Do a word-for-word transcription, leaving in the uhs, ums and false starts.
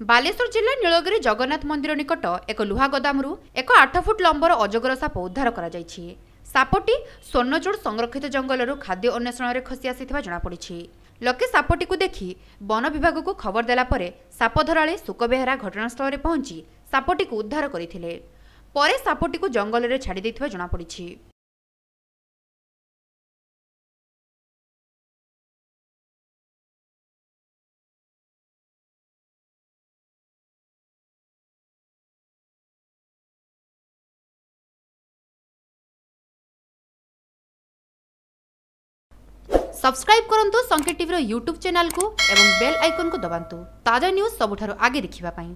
ବାଲେଶ୍ୱର ଜିଲ୍ଲା ନୀଳଗିରି ଜଗନ୍ନାଥ ମନ୍ଦିର ନିକଟ ଏକ ଲୁହା ଗୋଦାମରୁ ଏକ ଆଠ ଫୁଟ ଲମ୍ବର ଅଜଗର ସାପ ଉଦ୍ଧାର କରାଯାଇଛି। ସାପଟି ସ୍ୱର୍ଣ୍ଣଚୂଡ଼ ସଂରକ୍ଷିତ ଜଙ୍ଗଲରୁ ଖାଦ୍ୟ ଅନ୍ୱେଷଣରେ ଖସି ଆସିଥିବା ଜଣାପଡ଼ିଛି। ଲୋକେ ସାପଟିକୁ ଦେଖି ବନ ବିଭାଗକୁ ଖବର ଦେଲା ପରେ ସାପ ଧରାଳି ଶୁକ ବେହେରା ଘଟଣାସ୍ଥଳରେ ପହଞ୍ଚି ସାପଟିକୁ ଉଦ୍ଧାର କରିଥିଲେ। ପରେ ସାପଟିକୁ ଜଙ୍ଗଲରେ ଛାଡ଼ି ଦେଇଥିବା ଜଣାପଡ଼ିଛି। ସବସ୍କ୍ରାଇବ୍ କରନ୍ତୁ ସଂକେତ ଟିଭିର ୟୁଟ୍ୟୁବ୍ ଚ୍ୟାନେଲକୁ ଏବଂ ବେଲ୍ ଆଇକନ୍କୁ ଦବାନ୍ତୁ ତାଜା ନ୍ୟୁଜ୍ ସବୁଠାରୁ ଆଗେ ଦେଖିବା ପାଇଁ।